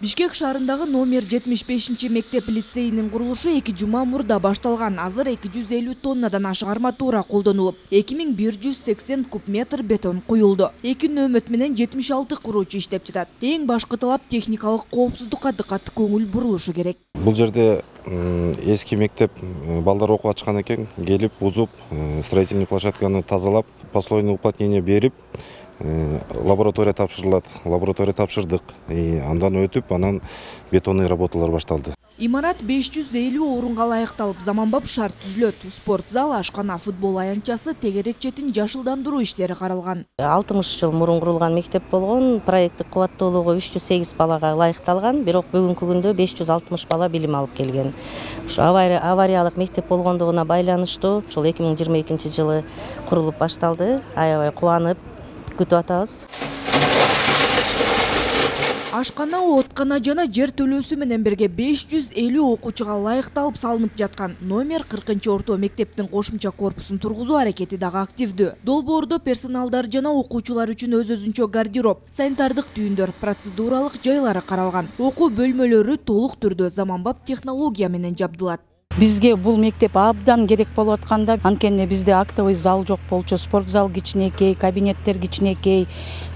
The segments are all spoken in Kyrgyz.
Бишкек шаарындагы номер 75 мектеп лицейинин курулушу 2 жума мурда башталган. Азыр 250 тоннадан ашык арматура колдонулуп, 2180 куб метр бетон куюлду. 2 нөөмөт менен 76 куруучу иштеп жатат. Эң башкы талап техникалык коопсуздукка дыккат көңүл бурулушу керек. Бул жерде эски мектеп балдар окуп ачкан экен, келип бузуп, строительный площадканы тазалап, послойный уплотнение берип, лаборатория тапшырылат. Лаборатория тапшырдык. Андан өтүп, анан бетонный работалар башталды. Имарат 550 орунга ылайыкталып, заманбап шарт түзүлөт. Спорт зал, ашкана, футбол аянтчасы, тегерек четин жашылдандыруу иштери каралган. 60 жыл мурун курулган мектеп болгон, проекттик кубаттуулугу 308 балага ылайыкталган, бирок бүгүнкү күндө 560 бала билим алып келген. Ушу авариялык мектеп болгондугуна байланыштуу, ушул 2022 жылы курулуп башталды. Аябай кубанып күтүп атабыз. Ашкана, откана жана жер төлөөсү менен бирге 550 окуучуга ылайыкталып салынып жаткан номер 40 орто мектептин кошумча корпусун тургузуу аракети дагы активдүү. Долбоордо персоналдар жана окуучулар үчүн өз-өзүнчө гардероб, санитардык түйүндөр, процедуралык жайлары каралган. Окуу бөлмөлөрү толук түрдө заманбап технология менен жабдылат. Бизге бул мектеп абдан керек болуп атканда, анткени бизде актовый зал жок болчу, спорт зал кичинекей, кабинеттер кичинекей,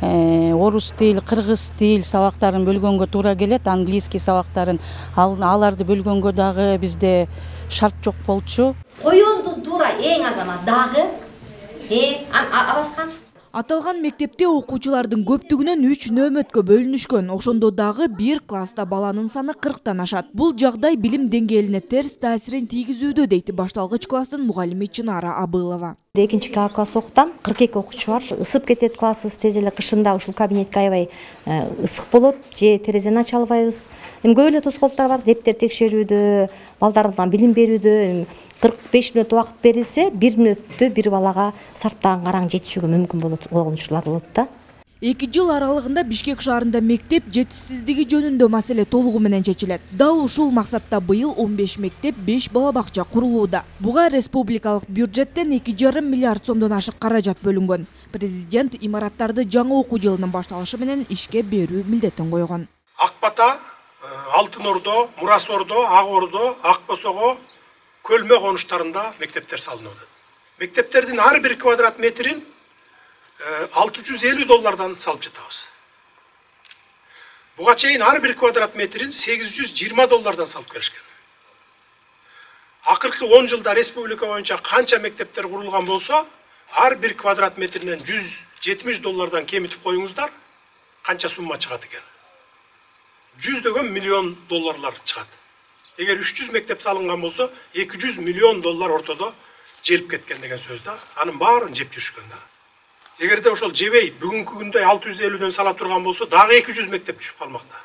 орус тил, кыргыз тил сабактарын бөлгөнгө туура келет, английский сабактарын аларды бөлгөнгө дагы бизде шарт жок болчу. Коюндун туура эң азамат дагы абаскан. Аталган мектепте окуучулардын көптүгүнөн 3 нөөмөткө бөлүнүшкөн. Ошондо дагы бир класста баланын саны 40тан ашат. Бул жагдай билим деңгээлине терс таасирин тийгизүүдө, дейт башталгыч класстын мугалими Чынара Абылова. 2 класс окутам, 42 окуучу бар. Ысып кетет классыбыз, тез эле кышында ушул кабинетке аябай ысык болот, же терезени ача албайбыз. Көп эле тоскоолдуктар бар, дептер текшерүүдө, балдардан билим берүүдө 45 мүнөт убакыт берилсе, 1 мүнөттө бир балага сарптаган караң жетишүүгө мүмкүн болгон учурлар болот да. 2 жыл аралыгында Бишкек шаарында мектеп жетишсиздиги жөнүндө маселе толугу менен чечилет. Дал ушул максатта быйыл 15 мектеп, 5 бала бакча курулууда. Буга республикалык бюджеттен 2,5 миллиард сомдон ашык каражат бөлүнгөн. Президент имараттарды жаңы окуу жылынын башталышы менен ишке берүү милдетин койгон. Ак Бата, Алтын Ордо, Мурас Ордо, Ак Ордо, Ак Босого, Көлмө конуштарында мектептер салынып атат. Мектептердин ар бир квадрат метрин $650 салып жатабыз. Буга чейин ар бир квадрат метрин $820 салып келишкен. Акыркы 10 жылда республика боюнча канча мектептер курулган болсо, ар бир квадрат метринен $170 кемитип коюңуздар, канча сумма чыгат экен? $100 миллион чыгат. Эгер 300 мектеп салынган болсо, $200 миллион ортодо желип кеткен деген сөз да. Анын баарын жеп жүрүшкөн да. Эгерде ошол жебей бүгүнкү күндө 650дөн сала турган болсо, дагы 200 мектеп түшүп калмакта.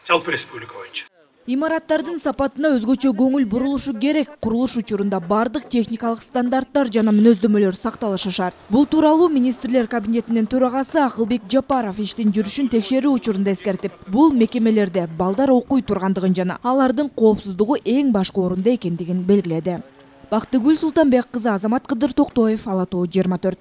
Жалпы республика боюнча. Имараттардын сапатына өзгөчө көңүл бурулушу керек. Курулуш учурунда бардык техникалык стандарттар жана мүнөздөмөлөр сакталышы шарт. Бул тууралуу министрлер кабинетинин төрагасы Акылбек Жапаров иштин жүрүшүн текшерүү учурунда эскертип, бул мекемелерде балдар окуй тургандыгын жана алардын коопсуздугу эң башкы орунда экендигин белгиледи. Бактыгүл Султанбек кызы, Азамат Кыдыр Токтоев, Ала Тоо 24.